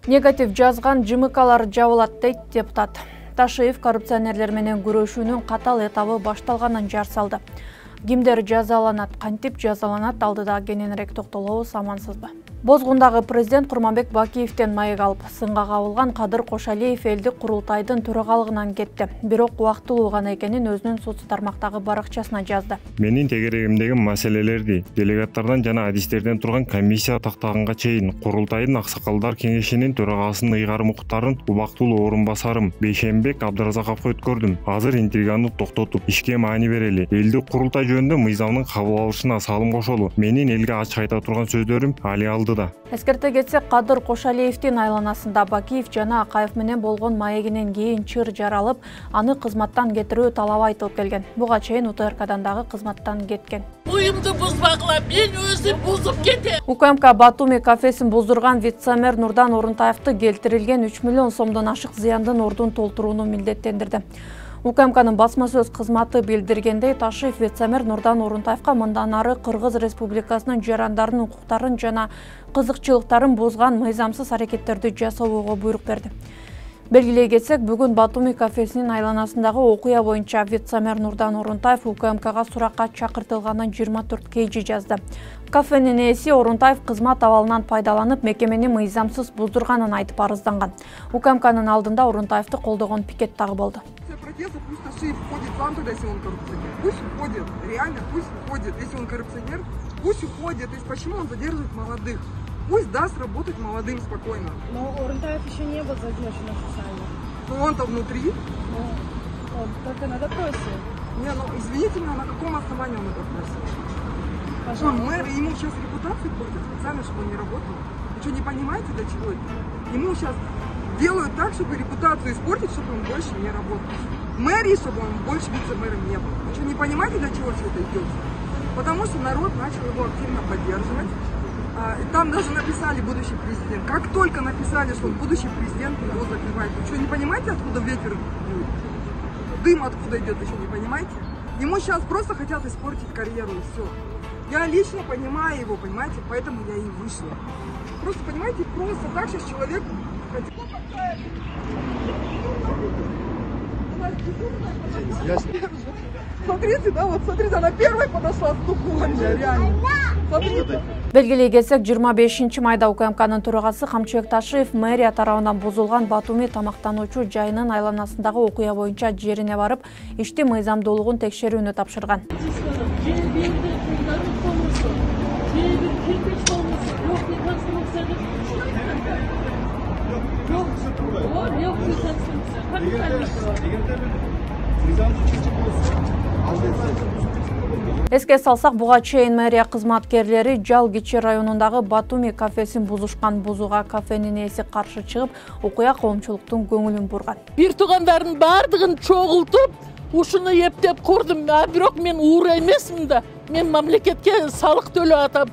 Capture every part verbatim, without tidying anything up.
Негатив жазган жымыкалар жабылат дейт депутат. Ташиев коррупционерлер менен күрөшүүнүн катал этабы башталганын жар салды. Кимдер жазаланат, кантип жазаланат алдыда кененирээк токтолобуз, амансызбы? Бозгундагы президент Курманбек Бакиевден маек алып, сынга кабылган Кадыр Кошалиев элдик курултайдын төрагалыгынан кетти. Бирок убактылуу гана экенин өзүнүн соц тармактагы баракчасына жазды. Менин тегерегимдеги маселелерди делегаттардан жана адистерден турган комиссия тактаганга чейин курултайдын аксакалдар кеңешинин төрагасынын ыйгарым укуктарын убактылуу орун басарым Бейшенбек Абдыразаковго өткөрдүм. Азыр интриганы токтотуп, ишке маани берели. Элдик курултай жөнүндө мыйзамдын кабыл алышына салым кошолу. Менин элге ачык айта турган сөздөрүм али алды. Эскерте кетсек, Кадыр Кошалиевдин айланасында Бакиев жана Акаев менен болгон маегинен кийин чыр жаралып, аны кызматтан кетирүү талабы айтылып келген. Буга чейин УТРКдан дагы кызматтан кеткен. Уюмду бузбагыла, мен өзүм бузуп кетем. УКМК Батуми кафесин буздурган вице-мэр Нурдан Орунтаевди келтирилген үч миллион сомдон ашык зыяндын ордун толтурууну милдеттендирди. УКМКнын басма сөз кызматы билдиргендей, Ташиев вице-мэр Нурдан Орунтаевга мындан ары Кыргыз Республикасынын жарандарынын укуктарын жана кызыкчылыктарын бузган мыйзамсыз аракеттерди жасоого буйрук берди. Белгилей кетсек, бүгүн Батуми кафесинин айланасындагы окуя боюнча вице-мэр Нурдан Орунтаев УКМКга суракка чакыртылганын жыйырма төрт кейжи жазды. Кафенин ээси Орунтаев кызмат абалынан пайдаланып, мекемени мыйзамсыз буздурганын айтып арызданган. УКМКнын алдында Орунтаевди колдогон пикет дагы болду. Пусть Ташиев входит вам туда, если он коррупционер. Пусть уходит, реально, пусть уходит. Если он коррупционер, пусть уходит. То есть почему он задерживает молодых? Пусть даст работать молодым спокойно. Но Орунтаев еще не был задержан официально. Но он-то внутри. Ну, он только на допросе. Не, ну извините меня, на каком основании он это просит? Пожалуйста. Он мэр, ему сейчас репутацию портят специально, чтобы он не работал. Вы что, не понимаете, для чего это? Ему сейчас делают так, чтобы репутацию испортить, чтобы он больше не работал. Мэрии, чтобы он больше вице-мэром не был. Вы что, не понимаете, для чего все это идет? Потому что народ начал его активно поддерживать. А, и там даже написали будущий президент. Как только написали, что он будущий президент, его закрывают. Вы что, не понимаете, откуда ветер дует? Дым откуда идет, вы что, не понимаете? Ему сейчас просто хотят испортить карьеру, и все. Я лично понимаю его, понимаете, поэтому я и вышла. Просто, понимаете, просто так сейчас человек... Смотрите, да, вот смотрите, она первой подошла с тукумом, реально. Смотрите. Белгилей кетсек, жыйырма бешинчи майда УКМКнын төрагасы Камчыбек Ташиев мэрия тарабынан бузулган Батуми тамактануучу жайынын айланасындагы окуя боюнча жерине барып, ишти мыйзамдуулугун текшерүүнү тапшырган. Эске салсак, буга чейин мэрия кызматкерлери Жал Кичи районундагы Батуми кафесин бузушкан. Бузууга кафенин ээси каршы чыгып, окуя коомчулуктун көңүлүн бурган. Бир туугандардын бардыгын чогултуп, ушуну эптеп курдум. А бирок мен уура эмесмин да. Мен мамлекетке салык төлөп атам.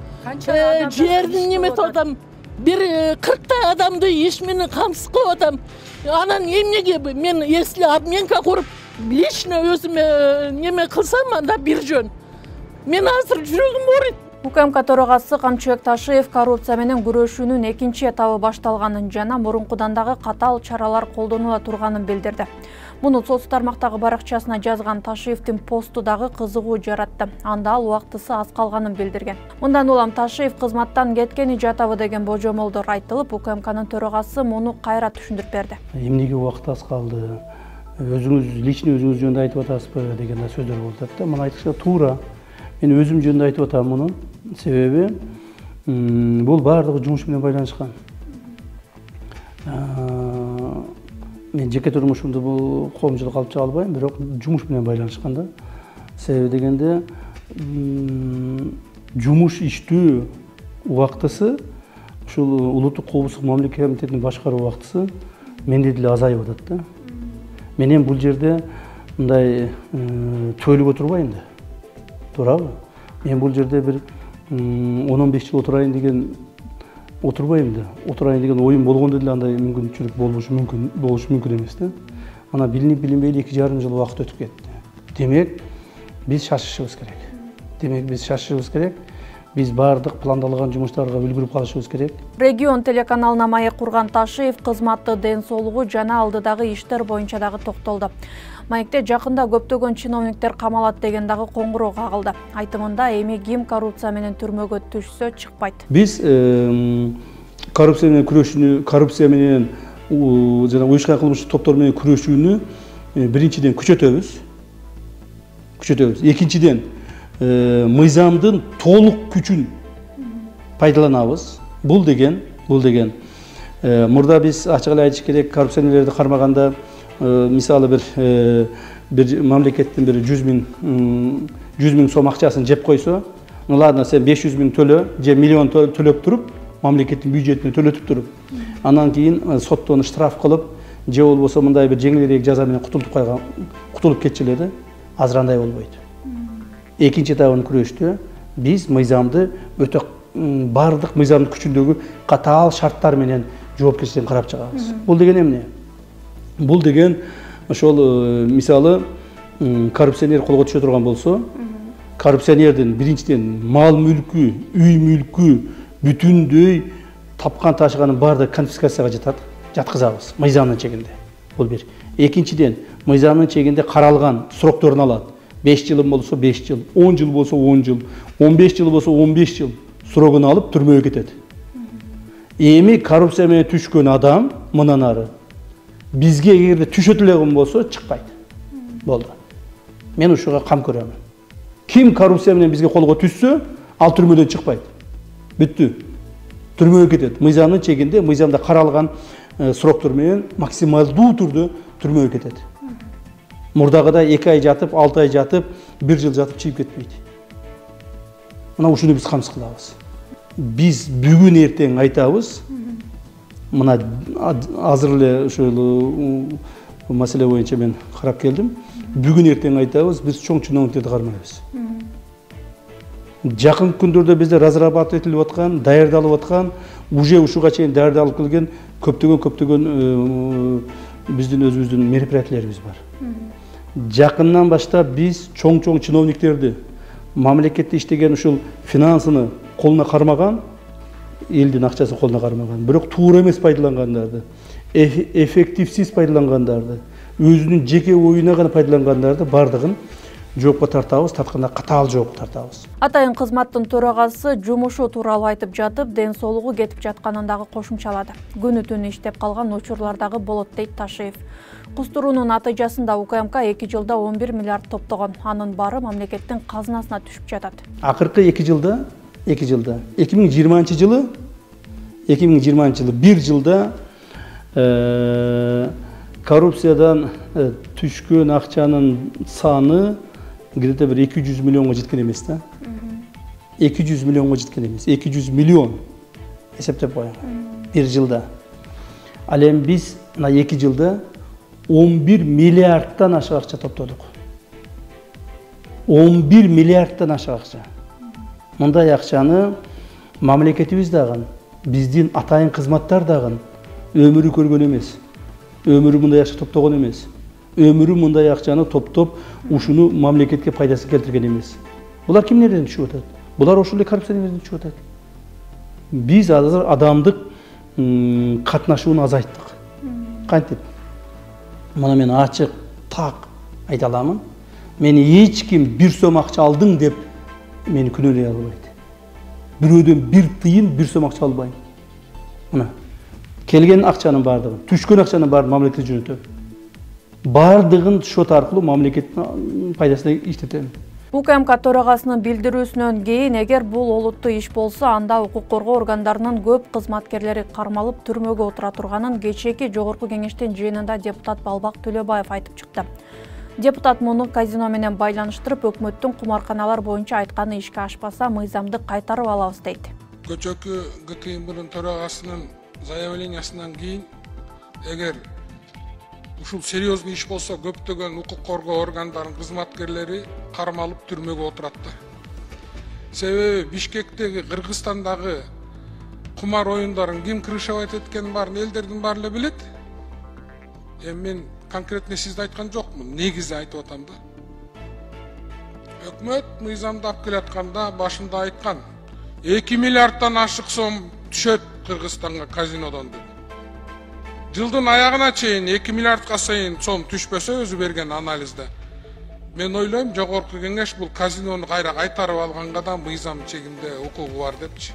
Жердин неметип атам. Бир кырктай адамды иш менен камсыз кылып атам. Анан эмнеге мен если обменка куруп, лично өзүмө неме кылсам, анда бир жөн. Мен азыр жүрөгүм ооруйт. УКМК төрагасы Камчыбек Ташиев коррупция менен күрөшүүнүн экинчи этабы башталганын жана мурункудан дагы катал чаралар колдонула турганын билдирди. Муну соц тармактагы баракчасына жазган Ташиевдин посту дагы кызыгуу жаратты. Анда ал убактысы аз калганын билдирген. Мындан улам Ташиев кызматтан кеткени жатабы деген божомолдор айтылып, УКМКнын төрагасы муну кайра түшүндүрүп берди. Эмнеге убакыт аз калды? Өзүңүз лично өзүңүз жөнүндө айтып атасызбы деген сөздөр болуп атат да. Мына айтышта туура. Мен өзүм жөнүндө айтып атам муну. Себеби бул баардыгы жумуш менен байланышкан. Мен жеке турмушумду бул коомчулукка алып чыга албайм, бирок жумуш менен байланышкан да. Себеби дегенде жумуш иштөө убактысы ушул улуттук коопсуздук мамлекет комитетинин башкаруу убактысы менде деле азайып атат да. Менен бул жерде мындай төлөп отурбайм да. Туурабы? Мен бул жерде бир он он беш жыл отурайын деген отурбайм да. Отурайын деген оюм болгондо деле андай мүмкүнчүлүк болушу мүмкүн, болушу мүмкүн эмес да. Ана билинип билинбейли эки жарым жыл убакыт өтүп кетти. Демек, биз шашышыбыз керек. Демек, биз шашышыбыз керек. Биз баардык пландалган жумуштарга үлгүрүп калышыбыз керек. Регион телеканалына маек курган Ташиев кызматты, ден соолугу жана алдыдагы иштер боюнча дагы токтолду. Маекте жакында көптөгөн чиновниктер камалат деген дагы коңгуроо кагылды. Айтымында эми ким коррупция менен түрмөгө түшсө чыкпайт. Биз коррупция менен күрөшүүнү, коррупция менен жана уюшкан кылмыштык топтор менен күрөшүүнү биринчиден күчөтөбүз. Күчөтөбүз. Экинчиден мыйзамдын толук күчүн пайдаланабыз. Бул деген, бул деген мурда биз ачык эле айтыш керек, коррупционерлерди кармаганда мисалы бир бир мамлекеттин бир жүз миң жүз миң сом акчасын жеп койсо, ну ладно, сен беш жүз миң төлө же миллион төлөп туруп, мамлекеттин бюджетине төлөтүп туруп, анан кийин соттон штраф кылып, же болбосо мындай бир жеңилирээк жаза менен кутулуп калган, кутулуп кетчү эле, азыр андай болбойт. Экинчи этабын күрөштө биз мыйзамды өтө бардык мыйзамдын күчүндөгү катаал шарттар менен жоопкерчиликтерин карап чыгабыз. Бул деген эмне? Бул деген ошол мисалы коррупционер колго түшө турган болсо, коррупционердин биринчиден мал мүлкү, үй мүлкү бүтүндөй тапкан ташыганын баардыгы конфискацияга жатат, жаткызабыз мыйзамдын чегинде. Бул бир. Экинчиден мыйзамдын чегинде каралган срокторун алат. беш жыл болсо беш жыл, он жыл болсо он жыл, он беш жыл болсо он беш жыл срогун алып түрмөгө кетет. Эми коррупция менен түшкөн адам мындан ары бизге эгерде түшөт эле болсо чыкпайт. Болду. Мен ушуга кам көрөмүн. Ким коррупция менен бизге колго түшсө, ал түрмөдөн чыкпайт. Бүттү. Түрмөгө кетет. Мыйзамдын чегинде, мыйзамда каралган сроктор менен максималдуу түрдө түрмөгө кетет. Мурдагыдай эки ай жатып, алты ай жатып, бир жыл жатып чыгып кетпейт. Мына ушуну биз камсыз кылабыз. Биз бүгүн эртең айтабыз. Мына азыр эле ошол маселе боюнча мен карап келдим. Бүгүн эртең айтабыз, биз чоң чиновниктерди кармайбыз. Жакын күндөрдө бизде разрабатывать этилип аткан, даярдалып аткан, уже ушуга чейин даярдалып келген көптөгөн көптөгөн биздин өзүбүздүн мероприятияларыбыз бар. Жакындан баштап биз чоң-чоң чиновниктерди, мамлекетте иштеген ушул финансыны колуна кармаган, элдин акчасын колуна кармаган, бирок туура эмес пайдалангандарды, эффективсиз пайдалангандарды, өзүнүн жеке оюна гана пайдалангандарды бардыгын жоопко тартабыз, тартканда катаал жоопко тартабыз. Атайын кызматтын төрагасы жумушу тууралуу айтып жатып, ден соолугу кетип жатканын дагы кошумчалады. Күнү түнү иштеп калган учурлар дагы болот дейт Ташиев. Кустуруунун натыйжасында УКМК эки жылда он бир миллиард топтогон. Анын баары мамлекеттин казынасына түшүп жатат. Акыркы эки жылда, эки жылда, эки миң жыйырманчы жылы, эки миң жыйырманчы жылы бир жылда коррупциядан түшкөн акчанын саны где-то бир эки жүз миллионго жеткен эмес да. эки жүз миллионго жеткен эмес, эки жүз миллион эсептеп коюңуз. бир жылда. Ал эми биз мына эки жылда он бир миллиардтан ашык акча топтодук. он бир миллиардтан ашык акча. Мындай акчаны мамлекетибиз дагы, биздин атайын кызматтар дагы өмүрү көргөн эмес. Өмүрү мындай акча топтогон эмес. Өмүрү мындай акчаны топтоп, ушуну мамлекетке пайдасын келтирген эмес. Булар кимдерден түшүп атат? Булар ошол эле коррупционерлерден түшүп атат. Биз азыр адамдык катнашууну азайттык. Кантип? Мына мен ачык, так айта аламын. Мени эч ким бир сом акча алдың деп мени күнөөлөй албайт. Бирөөдөн бир тыйын, бир сом акча албайм. Мына келген акчанын бардыгын, түшкөн акчанын баарын мамлекетке жөнөтөм. Бардыгын шот аркылуу мамлекеттин пайдасына иштетем. УКМК төрагасынын билдирүүсүнөн кийин, эгер бул олуттуу иш болсо, анда укук коргоо органдарынын көп кызматкерлери кармалып түрмөгө отура турганын кечээки жогорку кеңештин жыйынында депутат Балбак Төлөбаев айтып чыкты. Депутат муну казино менен байланыштырып, өкмөттүн кумарканалар боюнча айтканы ишке ашпаса, мыйзамды кайтарып алабыз дейт. Көчөкү ГКМБнын төрагасынын заявлениясынан кийин, эгер ушул серьезный иш болсо, көптөгөн укук коргоо органдарынын кызматкерлери кармалып түрмөгө отуратты. Себеби Бишкектеги, Кыргызстандагы кумар оюндарын ким крышевать эткенин баарын элдердин баары эле билет. Эми мен конкретно сизди айткан жокмун, негизи айтып атам да. Өкмөт мыйзамды алып келатканда башында айткан, эки миллиардтан ашык сом түшөт Кыргызстанга казинодон деп. Жылдын аягына чейин эки миллиардка сайын сом түшпөсө өзү берген анализде. Мен ойлойм, жогорку кеңеш бул казинону кайра кайтарып алганга да мыйзам чегинде укугу бар депчи.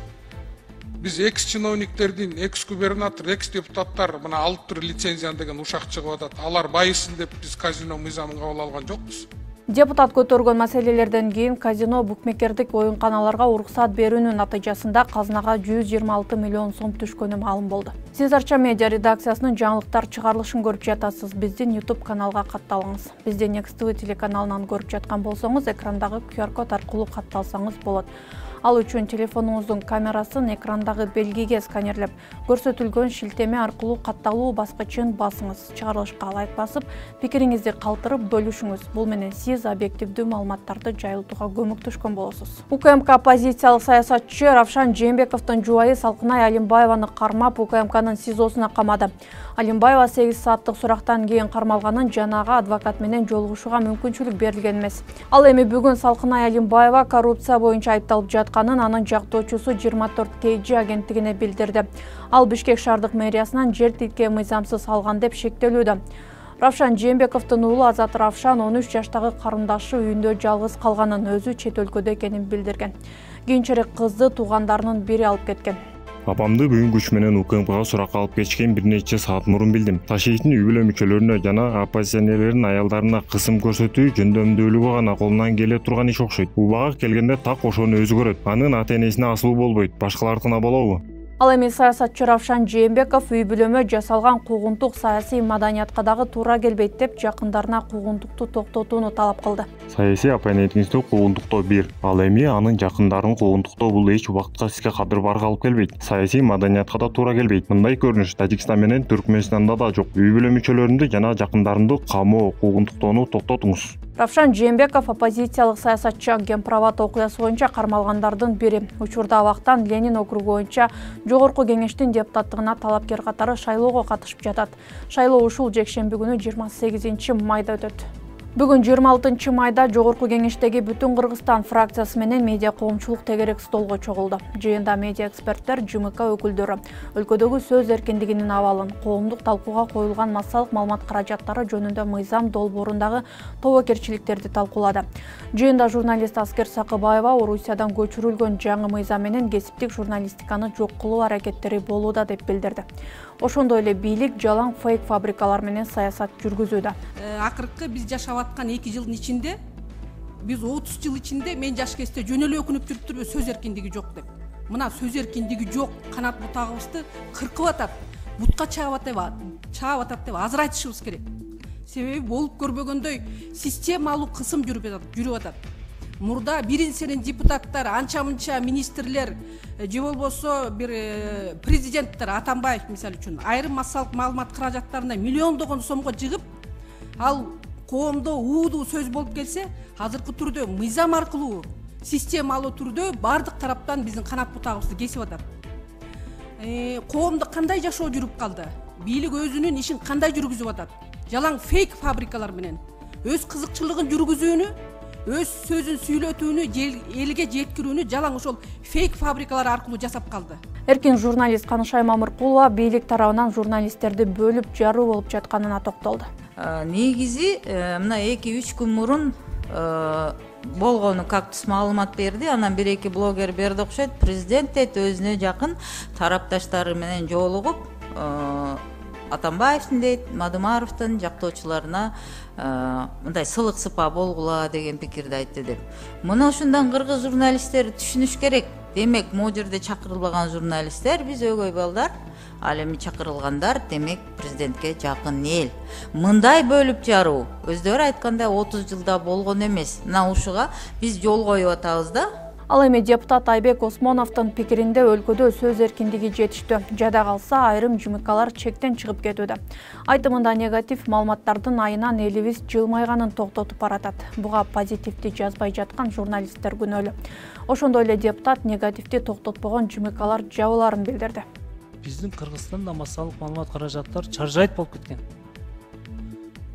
Биз экс чиновниктердин, экс губернатор, экс депутаттар мына алып тур лицензияны деген ушак чыгып атат. Алар байысын деп биз казино мыйзамын кабыл алган жокпуз. Депутат көтөргөн маселелерден кийин казино букмекердик оюнканаларга уруксат берүүнүн натыйжасында казынага жүз жыйырма алты миллион сом түшкөнү маалым болду. Сиз Арча медиа редакциясынын жаңылыктар чыгарылышын көрүп жатасыз. Биздин YouTube каналга катталыңыз. Бизди Next ти ви телеканалынан көрүп жаткан болсоңуз, экрандагы ку ар код аркылуу катталсаңыз болот. Ал үчүн телефонуңуздун камерасын экрандагы белгиге сканерлеп, көрсөтүлгөн шилтеме аркылуу катталуу баскычын басыңыз. Чыгарылышка лайк басып, пикириңизди калтырып бөлүшүңүз. Бул менен сиз объективдүү маалыматтарды жайылтууга көмөктөшкөн болосуз. УКМК оппозициялык саясатчы Равшан Жээнбековдун жубайы Салкынай Алимбаеваны кармап УКМКнын СИЗОсуна камады. Алимбаева сегиз сааттык сурактан кийин кармалганын жанагы адвокат менен жолугушууга мүмкүнчүлүк берилген эмес. Ал эми бүгүн Салкынай Алимбаева коррупция боюнча айыпталып жатканын анын жактоочусу жыйырма төрт кей джи агенттигине билдирди. Ал Бишкек шаардык мэриясынан жер тилке мыйзамсыз алган деп шектелүүдө. Равшан Жээнбековдун уулу Азат Равшан он үч жаштагы карындашы үйүндө жалгыз калганын, өзү чет өлкөдө экенин билдирген. Кийинчерээк кызды туугандарынын бири алып кеткен. Апамды бүгүн күч менен УКМКга суракка алып кетишкен бир нече саат мурун билдим. Ташиевдин үй бүлө мүчөлөрүнө жана оппозиционерлердин аялдарына кысым көрсөтүү жөндөмдүүлүгү гана колунан келе турган иш окшойт. Убага келгенде так ошону өзү көрөт. Анын ата-энесине асылуу болбойт, башкалардыкына болобу? Ал эми саясатчы Равшан Жээнбеков үй бүлөмө жасалган куугунтук саясий маданиятка дагы туура келбейт деп жакындарына куугунтукту токтотууну талап кылды. Саясий оппонентиңизди куугунтуктоо бир. Ал эми анын жакындарын куугунтуктоо бул эч убакытка сизге кадыр-барга алып келбейт. Саясий маданиятка да туура келбейт. Мындай көрүнүш Тажикстан менен Түркмөнстанда да жок. Үй бүлө мүчөлөрүндү жана жакындарымды камоо, куугунтуктоону токтотуңуз. Равшан Жээнбеков оппозициялык саясатчы Гемправат окуясы боюнча кармалгандардын бири. Учурда абактан Ленин округу боюнча жогорку кеңештин депутаттыгына талапкер катары шайлоого катышып жатат. Шайлоо ушул жекшемби күнү жыйырма сегизинчи майда өтөт. Бүгүн жыйырма алтынчы майда жогорку кеңештеги Бүтүн Кыргызстан фракциясы менен медиа коомчулук тегерек столго чогулду. Жыйында медиа эксперттер, ЖМК өкүлдөрү өлкөдөгү сөз эркиндигинин абалын, коомдук талкууга коюлган массалык маалымат каражаттары жөнүндө мыйзам долбоорундагы тобокерчиликтерди талкуулады. Жыйында журналист Аскер Сакыбаева Орусиядан көчүрүлгөн жаңы мыйзам менен кесиптик журналистиканы жок кылуу аракеттери болууда деп билдирди. Ошондой эле бийлик жалаң фейк фабрикалар менен саясат жүргүзүүдө. Акыркы биз жашап аткан эки жылдын ичинде, биз отуз жыл ичинде мен жаш кезде жөн эле өкүнүп жүрүптүрбү, сөз эркиндиги жок деп. Мына сөз эркиндиги жок, канат бутагыбызды кыркып атат, бутка чаап атат, чаап атат деп азыр айтышыбыз керек. Себеби болуп көрбөгөндөй системалуу кысым жүрүп атат, жүрүп атат. Мурда бирин-сенин депутаттар, анча-мынча министрлер, же болбосо бир президенттер, Атамбаев мисалы үчүн, айрым массалык маалымат каражаттарына миллиондогон сомго жыгып, ал коомдо уудуу сөз болуп келсе, азыркы түрдө мыйзам аркылуу, системалуу түрдө бардык тараптан биздин канат бутагыбызды кесип атат. Коомдо кандай жашоо жүрүп калды? Бийлик өзүнүн ишин кандай жүргүзүп атат? Жалаң фейк фабрикалар менен өз кызыкчылыгын жүргүзүүнү, өз сөзүн сүйлөтүүнү, элге жеткирүүнү жалаң ошол фейк фабрикалар аркылуу жасап калды. Эркин журналист Канышай Мамыркулова бийлик тарабынан журналисттерди бөлүп жаруу болуп жатканына токтолду. Негизи мына эки үч күн мурун болгону Кактус маалымат берди, анан бир эки блогер берди окшойт. Президент дейт өзүнө жакын тарапташтары менен жолугуп, Атамбаевдин дейт, Мадымаровдун жактоочуларына мындай сылык сыпа болгула деген пикирди айтты деп. Мына ушундан кыргыз журналисттери түшүнүш керек. Демек, могу жерде чакырылбаган журналисттер биз өгөй балдар, ал эми чакырылгандар, демек президентке жакын эл. Мындай бөлүп жаруу өздөрү айткандай отуз жылда болгон эмес. Мына ушуга биз жол коюп атабыз да. Ал эми депутат Айбек Осмоновдун пикиринде өлкөдө сөз эркиндиги жетиштүү. Жада калса айрым жымыкалар чектен чыгып кетүүдө. Айтымында негатив маалыматтардын айынан элибиз жылмайганын токтотуп баратат. Буга позитивди жазбай жаткан журналисттер күнөөлүү. Ошондой эле депутат негативди токтотпогон жымыкалар жабыларын билдирди. Биздин Кыргызстанда массалык маалымат каражаттар чаржайт болуп кеткен.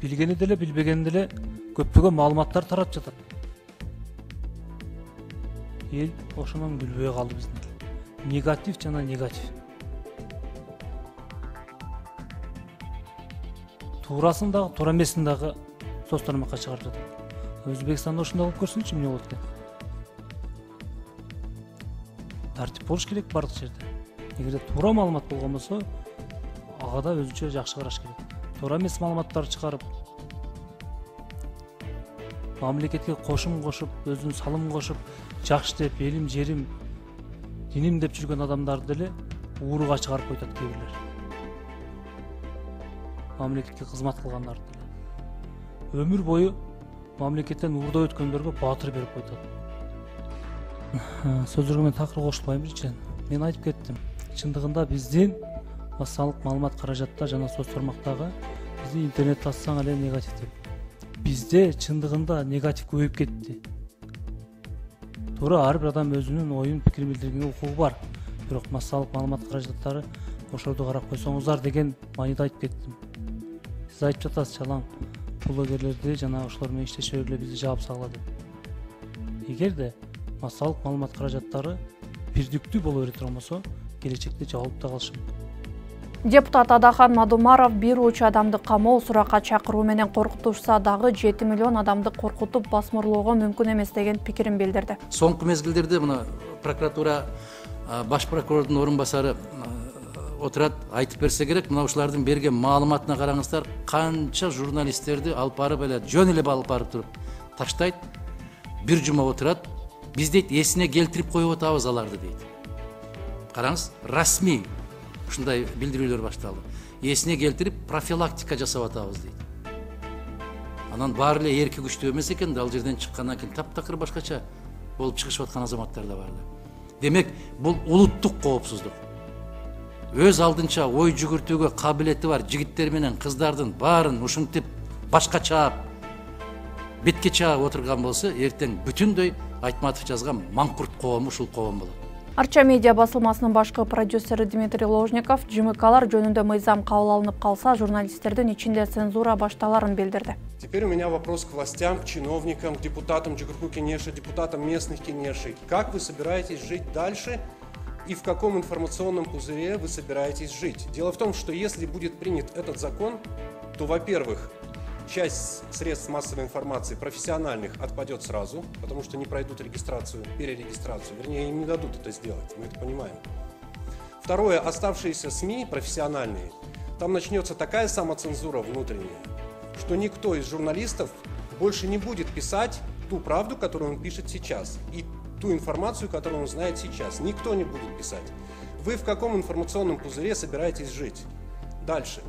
Билгени деле, билбегени деле көптөгөн маалыматтар тарап жатат. Эл ошонун билбей калды биздин. негатив жана негатив. Туурасын дагы, туура эмесин дагы соц тармакка чыгарып жатат. Өзбекстанда ошондой кылып көрсүңчү, эмне болот экен? Тартип болуш керек бардык жерде. Эгерде туура маалымат болгон болсо, ага да өзүнчө жакшы караш керек. Туура эмес маалыматтарды чыгарып, мамлекетке кошум кошуп, өзүнүн салымын кошуп, жакшы деп, элим, жерим, диним деп жүргөн адамдарды деле ууруга чыгарып койтат кээ бирлер. Мамлекетке кызмат кылгандарды деле. Өмүр бою мамлекеттен уурдап өткөндөргө баатыр берип койтат. Сөздөргө мен такыр кошулбайм биринчиден. Мен айтып кеттим. Чындыгында биздин массалык маалымат каражатта жана соц тармактагы бизди интернет тассаң эле негатив деп. Бизде чындыгында негатив көбөйүп кетти. Туура ар бир адам өзүнүн оюн, пикирин билдиргенге укугу бар. Бирок массалык маалымат каражаттары ошолорду карап койсоңуздар деген мааниде айтып кеттим. Сиз айтып жатасыз, чалаң блогерлерди жана ошолор менен иштешө эле бизди жаап салгыла деп. Эгерде массалык маалымат каражаттары бирдиктүү боло бере турган болсо, келечекте жабылып да калышы мүмкүн. Депутат Адахан Мадумаров бир уч адамды камоо суракка чакыруу менен коркутушса дагы жети миллион адамды коркутуп басмырлоого мүмкүн эмес деген пикирин билдирди. Соңку мезгилдерде мына прокуратура баш прокурордун орун басары отурат, айтып берсе керек, мына ушулардын берген маалыматына караңыздар, канча журналисттерди алып барып эле жөн эле алып барып туруп таштайт, бир жума отурат, биз дейт эсине келтирип коюп атабыз аларды дейт. Караңыз, расмий ушундай билдирүүлөр башталды. Эсине келтирип профилактика жасап атабыз дейт. Анан баары эле эрки күчтүү эмес экен да, ал жерден чыккандан кийин таптакыр башкача болуп чыгышып аткан азаматтар да бар. Демек, бул улуттук коопсуздук. Өз алдынча ой жүгүртүүгө кабилети бар жигиттер менен кыздардын баарын ушинтип башкача бетке чаап отурган болсо, эртең бүтүндөй Айтматов жазган маңкурт коому ушул коом болот. Арча медиа басылмасынын башкы продюсери Дмитрий Ложников ЖМКлар жөнүндө мыйзам кабыл алынып калса, журналисттердин ичинде цензура башталарын билдирди. Теперь у меня вопрос к властям, к чиновникам, к депутатам Джигурку Кенеши, депутатам местных Кенешей. Как вы собираетесь жить дальше и в каком информационном пузыре вы собираетесь жить? Дело в том, что если будет принят этот закон, то, во-первых, часть средств массовой информации профессиональных отпадет сразу, потому что не пройдут регистрацию, перерегистрацию. Вернее, им не дадут это сделать, мы это понимаем. Второе, оставшиеся СМИ профессиональные, там начнется такая самоцензура внутренняя, что никто из журналистов больше не будет писать ту правду, которую он пишет сейчас, и ту информацию, которую он знает сейчас. Никто не будет писать. Вы в каком информационном пузыре собираетесь жить? Дальше.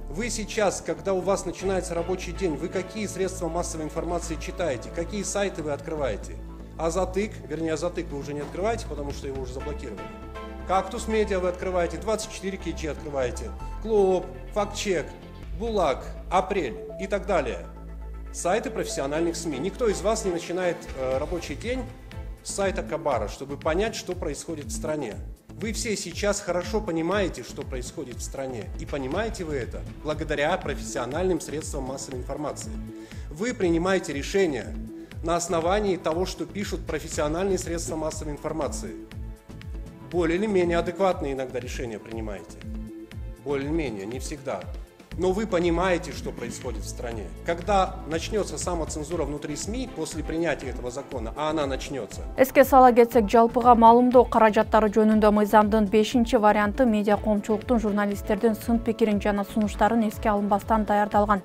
Вы сейчас, когда у вас начинается рабочий день, вы какие средства массовой информации читаете, какие сайты вы открываете? Азатык, вернее, Азатык вы уже не открываете, потому что его уже заблокировали. Кактус Медиа вы открываете, двадцать четыре кей джи открываете, Клоп, Фактчек, Булак, Апрель и так далее. Сайты профессиональных СМИ. Никто из вас не начинает э, рабочий день с сайта Кабара, чтобы понять, что происходит в стране. Вы все сейчас хорошо понимаете, что происходит в стране. И понимаете вы это благодаря профессиональным средствам массовой информации. Вы принимаете решения на основании того, что пишут профессиональные средства массовой информации. Более или менее адекватные иногда решения принимаете. Более или менее, не всегда. Но вы понимаете, что происходит в стране. Когда начнется самоцензура внутри СМИ после принятия этого закона, а она начнется. Эске сала кетсек, жалпыга маалымдоо каражаттары жөнүндө мыйзамдын бешинчи варианты медиа коомчулуктун журналисттердин сын пикирин жана сунуштарын эске алынбастан даярдалган.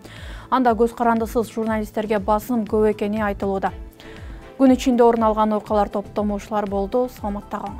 Анда көз карандысыз журналисттерге басым көп экени айтылууда. Күн ичинде орун алган окуялар топтомушулар болду. Саламатта калыңыз.